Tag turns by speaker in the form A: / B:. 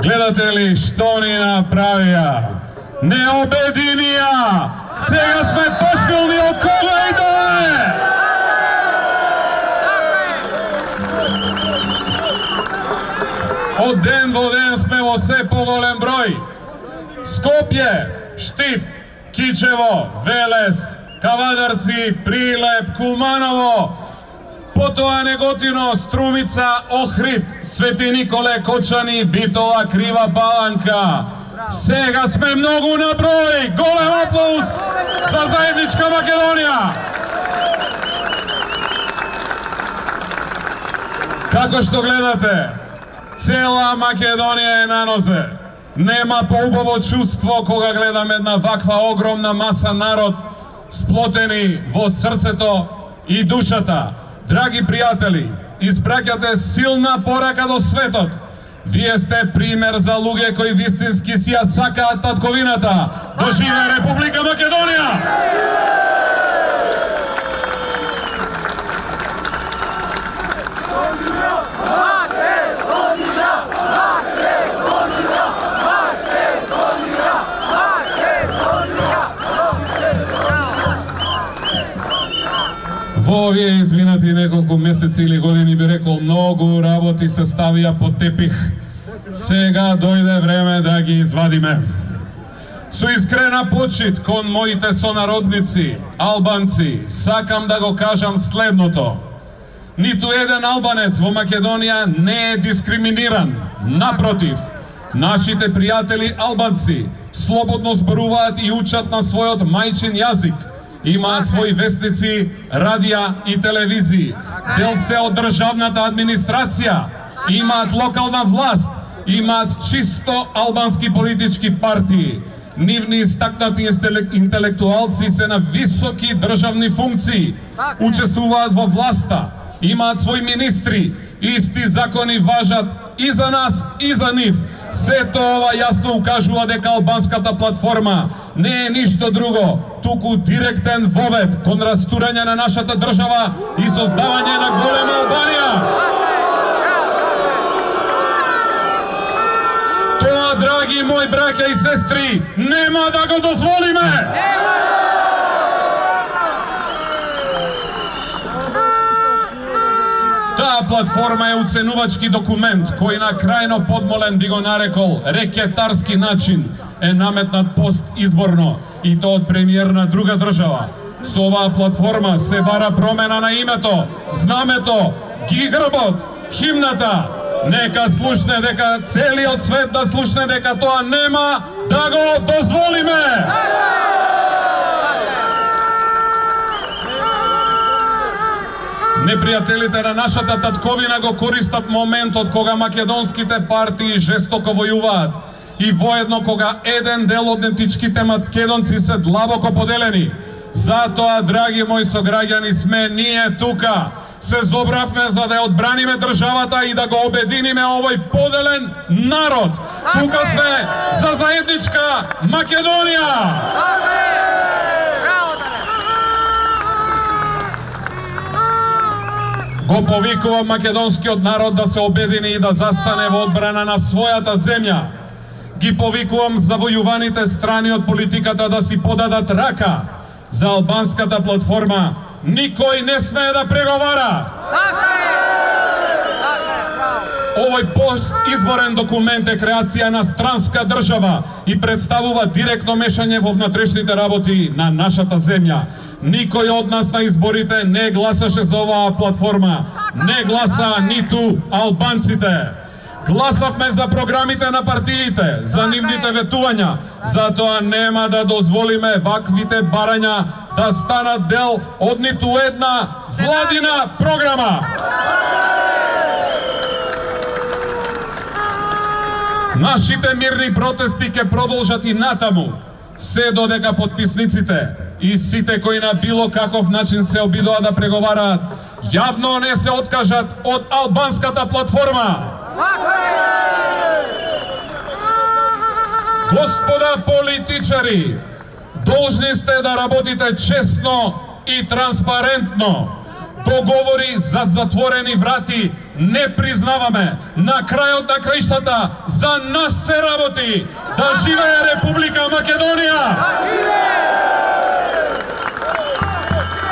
A: Гледате ли што ни направија? Не обединија! Сега сме посилни од кога и да е! Од ден во ден сме во се поголем број. Скопје, Штип, Кичево, Велес, Кавадарци, Прилеп, Куманово, потоа Неготино, Струмица, Охрид, Свети Николе, Кочани, Битола, Крива Паланка. Сега сме многу на број. Голем аплауз за заедничка Македонија. Како што гледате, цела Македонија е на нозе. Нема поубаво чувство кога гледам една ваква огромна маса народ сплотени во срцето и душата. Драги пријатели, испраќате силна порака до светот. Вие сте пример за луѓе кои вистински си ја сакаат татковината. Доживе Република Македонија! Во овие изминати неколку месеци или години би рекол многу работи се ставија под тепих. Сега дојде време да ги извадиме. Со искрена почит кон моите сонародници, албанци, сакам да го кажам следното. Ниту еден албанец во Македонија не е дискриминиран. Напротив, нашите пријатели албанци слободно зборуваат и учат на својот мајчин јазик. Имаат своји вестници, радија и телевизии. Дел се од државната администрација. Имаат локална власт. Имаат чисто албански политички партии. Нивни истакнати интелектуалци се на високи државни функции. Учествуваат во власта. Имаат своји министри. Исти закони важат и за нас, и за нив. Сето ова јасно укажува дека албанската платформа не е ништо друго, туку директен вовед кон растурање на нашата држава и создавање на голема Албанија. Тоа, драги мои браќа и сестри, нема да го дозволиме! Таа платформа е уценувачки документ кој на крајно подмолен би го нарекол рекетарски начин е наметнат пост изборно и тоа од премиер на друга држава. Со оваа платформа се бара промена на името, знамето, грбот, химната. Нека слушне, дека целиот свет да слушне дека тоа нема да го дозволиме! Непријателите на нашата татковина го користат моментот кога македонските партии жестоко војуваат и воедно кога еден дел од етничките македонци се длабоко поделени. Затоа, драги мои сограѓани, сме ние тука. Се зобравме за да ја одбраниме државата и да го обединиме овој поделен народ. Тука сме за заедничка Македонија! Го повикувам македонскиот народ да се обедини и да застане во одбрана на својата земја. Ги повикувам завојуваните страни од политиката да си подадат рака. За албанската платформа никој не смее да преговара. Овој постизборен документ е креација на странска држава и представува директно мешање во внатрешните работи на нашата земја. Никој од нас на изборите не гласаше за оваа платформа. Не гласа ниту албанците. Гласавме за програмите на партиите, за нивните ветувања. Затоа нема да дозволиме ваквите барања да станат дел од ниту една владина програма. Нашите мирни протести ќе продолжат и натаму, се додека подписниците и сите кои на било каков начин се обидоа да преговараат, јавно не се откажат од албанската платформа. Господа политичари, должни сте да работите честно и транспарентно. Договори зад затворени врати не признаваме. На крајот на краиштата за нас се работи. Да живее Република Македонија.